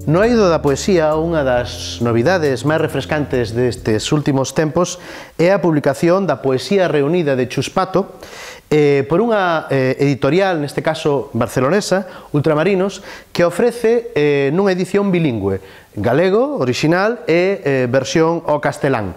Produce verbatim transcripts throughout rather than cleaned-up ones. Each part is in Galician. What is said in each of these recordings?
No eido da poesía, unha das novidades máis refrescantes destes últimos tempos é a publicación da Poesía Reunida de Chus Pato eh, por unha eh, editorial, neste caso barcelonesa, Ultramarinos, que ofrece eh, nunha edición bilingüe, galego, original e eh, versión ao castelán.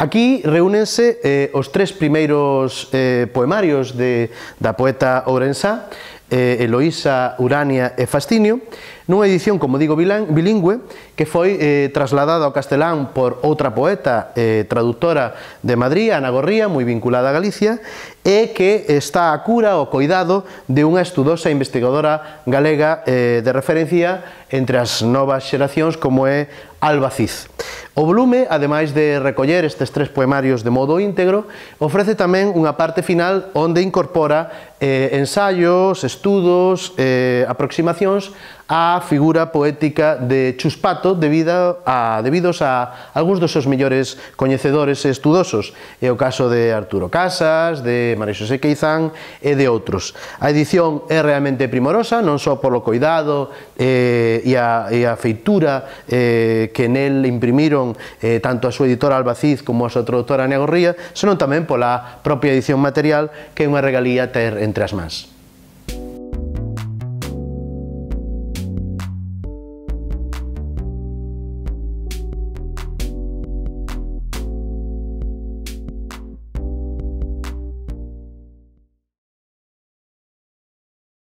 Aquí reúnense eh, os tres primeiros eh, poemarios de, da poeta ourensá, eh, Eloísa, Urania e Fastinio, nunha edición, como digo, bilingüe, que foi eh, trasladada ao castelán por outra poeta eh, traductora de Madrid, Ana Gorría, moi vinculada a Galicia, e que está a cura o coidado de unha estudosa investigadora galega eh, de referencia entre as novas xeracións como é Alba Cid. O volume, ademais de recoller estes tres poemarios de modo íntegro, ofrece tamén unha parte final onde incorpora eh, ensaios, estudos, eh, aproximacións á figura poética de Chus Pato debido a, debidos a algúns dos seus mellores coñecedores e estudosos. É o caso de Arturo Casas, de María Xosé Queizán e de outros. A edición é realmente primorosa, non só polo coidado eh, e, a, e a feitura eh, que nel imprimiron eh, tanto a súa editora Alba Cid como a súa traductora Ana Gorría, senón tamén pola propia edición material, que é unha regalía ter entre as mans.